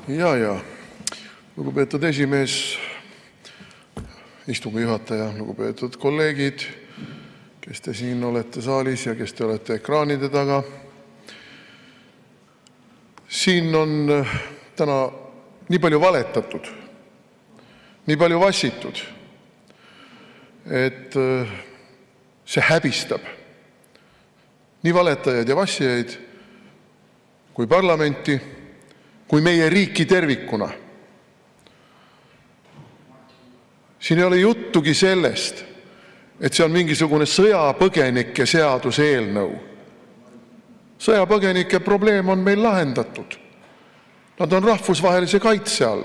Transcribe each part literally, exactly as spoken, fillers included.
Ja, ja. Lugupeetud esimees, istungi juhataja, lugupeetud kolleegid, kes te siin olete saalis ja kes te olete ekraanide taga. Siin on täna nii palju valetatud, nii palju vassitud, et see häbistab nii valetajaid ja vassijaid kui parlamenti, kui meie riiki tervikuna. Siin ei ole juttugi sellest, et see on mingisugune sõjapõgenike seaduse eelnõu. Sõjapõgenike probleem on meil lahendatud. Nad on rahvusvahelise kaitse all.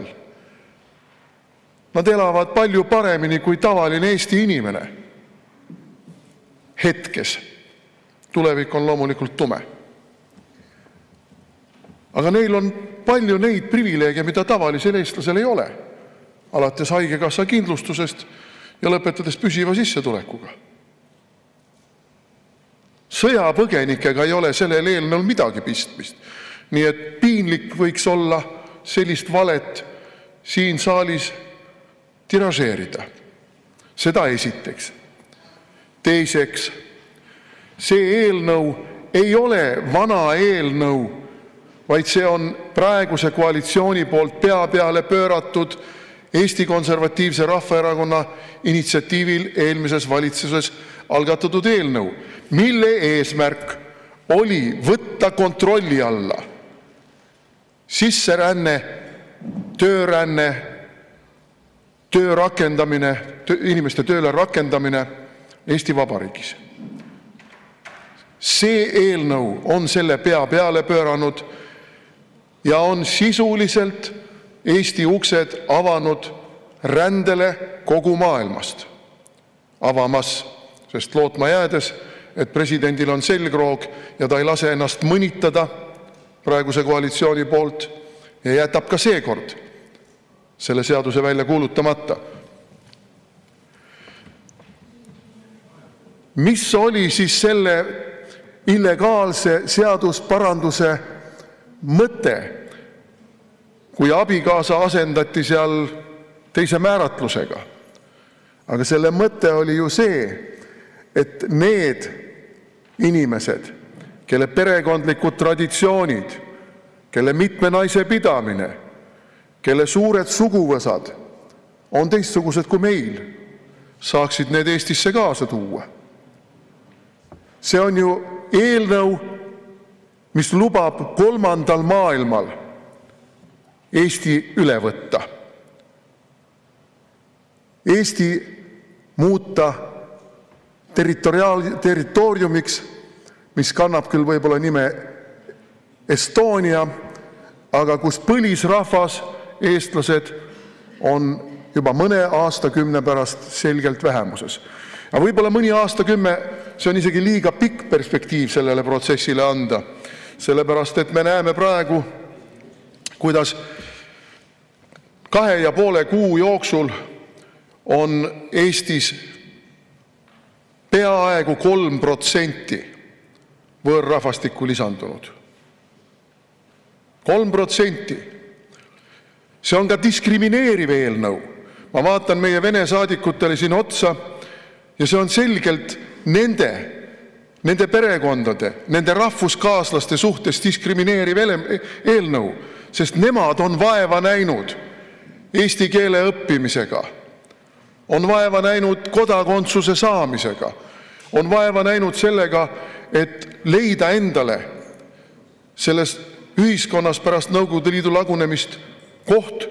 Nad elavad palju paremini kui tavaline Eesti inimene. Hetkes. Tulevik on loomulikult tume. Aga neil on palju neid privileege, mida tavalisel eestlasel ei ole. Alates haigekassa kindlustusest ja lõpetades püsiva sissetulekuga. Sõjapõgenikega ei ole sellel eelnõul midagi pistmist. Nii et piinlik võiks olla sellist valet siin saalis tiražeerida. Seda esiteks. Teiseks, see eelnõu ei ole vana eelnõu, vaid see on praeguse koalitsiooni poolt pea peale pööratud Eesti Konservatiivse Rahvaerakonna initsiatiivil eelmises valitsuses algatatud eelnõu, mille eesmärk oli võtta kontrolli alla sisseränne, tööränne, töö rakendamine, inimeste tööle rakendamine Eesti Vabariigis. See eelnõu on selle pea peale pööranud ja on sisuliselt Eesti uksed avanud rändele kogu maailmast. Avamas, sest lootma jäädes, et presidendil on selgroog ja ta ei lase ennast mõnitada praeguse koalitsiooni poolt ja jätab ka seekord selle seaduse välja kuulutamata. Mis oli siis selle illegaalse seadusparanduse mõte, kui abikaasa asendati seal teise määratlusega? Aga selle mõte oli ju see, et need inimesed, kelle perekondlikud traditsioonid, kelle mitme naise pidamine, kelle suured suguvõsad on teistsugused kui meil, saaksid need Eestisse kaasa tuua. See on ju eelnõu, mis lubab kolmandal maailmal Eesti üle võtta. Eesti muuta territoriaal, territooriumiks, mis kannab küll võib-olla nime Estonia, aga kus põlisrahvas, eestlased, on juba mõne aastakümne pärast selgelt vähemuses. Ja võib-olla mõni aastakümme, see on isegi liiga pikk perspektiiv sellele protsessile anda, sellepärast et me näeme praegu, kuidas kahe ja poole kuu jooksul on Eestis peaaegu kolm protsenti võõrrahvastikku lisandunud. Kolm protsenti. See on ka diskrimineeriv eelnõu. Ma vaatan meie vene saadikutele siin otsa ja see on selgelt nende, nende perekondade, nende rahvuskaaslaste suhtes diskrimineeriv eelnõu, sest nemad on vaeva näinud eesti keele õppimisega, on vaeva näinud kodakondsuse saamisega, on vaeva näinud sellega, et leida endale selles ühiskonnas pärast Nõukogude Liidu lagunemist koht,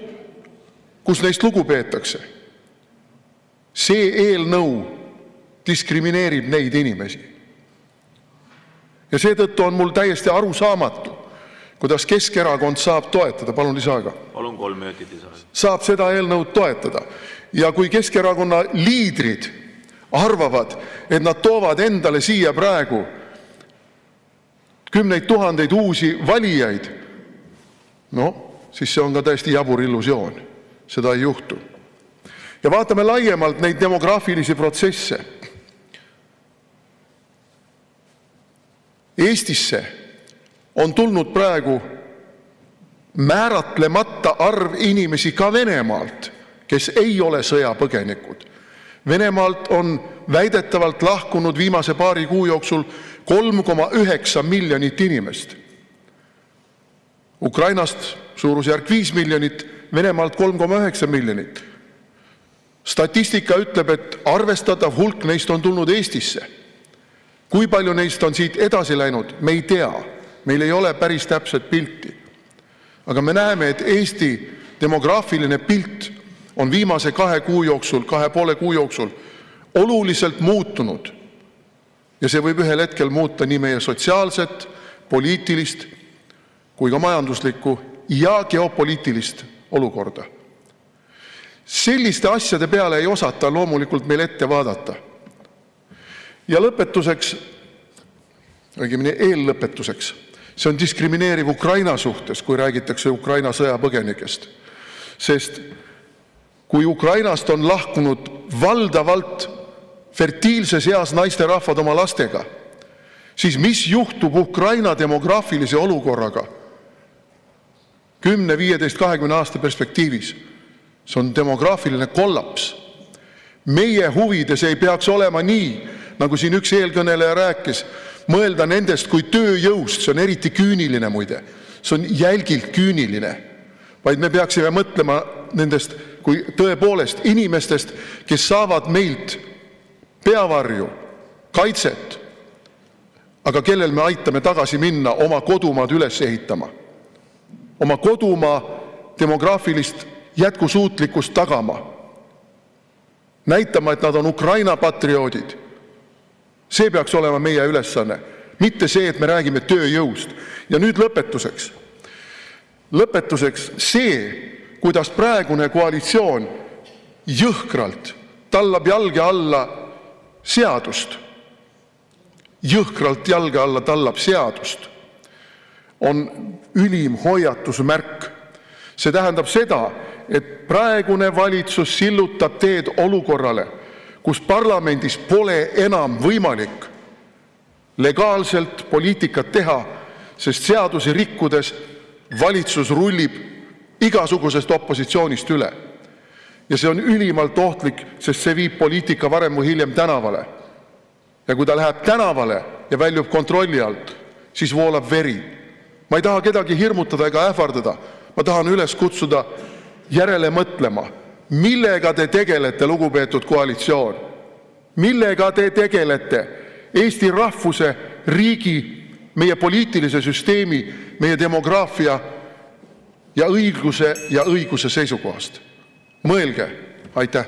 kus neist lugu peetakse. See eelnõu diskrimineerib neid inimesi. Ja seetõttu on mul täiesti arusaamatu, kuidas Keskerakond saab toetada, palun lisaaega. Palun kolm minutit lisaaega. Saab seda eelnõu toetada. Ja kui Keskerakonna liidrid arvavad, et nad toovad endale siia praegu kümneid tuhandeid uusi valijaid, no, siis see on ka täiesti jabur illusioon. Seda ei juhtu. Ja vaatame laiemalt neid demograafilisi protsesse. Eestisse on tulnud praegu määratlemata arv inimesi ka Venemaalt, kes ei ole sõjapõgenikud. Venemaalt on väidetavalt lahkunud viimase paari kuu jooksul kolm koma üheksa miljonit inimest. Ukrainast suurusjärk viis miljonit, Venemaalt kolm koma üheksa miljonit. Statistika ütleb, et arvestatav hulk neist on tulnud Eestisse. Kui palju neist on siit edasi läinud, me ei tea. Meil ei ole päris täpset pilti. Aga me näeme, et Eesti demograafiline pilt on viimase kahe kuu jooksul, kahe poole kuu jooksul oluliselt muutunud. Ja see võib ühel hetkel muuta nii meie sotsiaalset, poliitilist kui ka majanduslikku ja geopoliitilist olukorda. Selliste asjade peale ei osata loomulikult meil ette vaadata. Ja lõpetuseks, õigemini eellõpetuseks, see on diskrimineeriv Ukraina suhtes, kui räägitakse Ukraina sõjapõgenikest. Sest kui Ukrainast on lahkunud valdavalt fertiilses eas naisterahvad oma lastega, siis mis juhtub Ukraina demograafilise olukorraga kümne, viieteist, kahekümne aasta perspektiivis? See on demograafiline kollaps. Meie huvides ei peaks olema nii, nagu siin üks eelkõneleja rääkis, mõelda nendest kui tööjõust, see on eriti küüniline muide, see on jälgilt küüniline, vaid me peaksime mõtlema nendest kui tõepoolest inimestest, kes saavad meilt peavarju, kaitset, aga kellel me aitame tagasi minna oma kodumaad üles ehitama, oma kodumaa demograafilist jätkusuutlikkust tagama, näitama, et nad on Ukraina patrioodid. See peaks olema meie ülesanne, mitte see, et me räägime tööjõust. Ja nüüd lõpetuseks. Lõpetuseks see, kuidas praegune koalitsioon jõhkralt tallab jalge alla seadust, jõhkralt jalge alla tallab seadust, on ülim hoiatusmärk. See tähendab seda, et praegune valitsus sillutab teed olukorrale, kus parlamendis pole enam võimalik legaalselt poliitikat teha, sest seadusi rikkudes valitsus rullib igasugusest opositsioonist üle. Ja see on ülimalt ohtlik, sest see viib poliitika varem või hiljem tänavale. Ja kui ta läheb tänavale ja väljub kontrolli alt, siis voolab veri. Ma ei taha kedagi hirmutada ega ähvardada. Ma tahan üles kutsuda järele mõtlema, millega te tegelete, lugupeetud koalitsioon? Millega te tegelete Eesti rahvuse, riigi, meie poliitilise süsteemi, meie demograafia ja õigluse ja õiguse seisukohast? Mõelge, aitäh!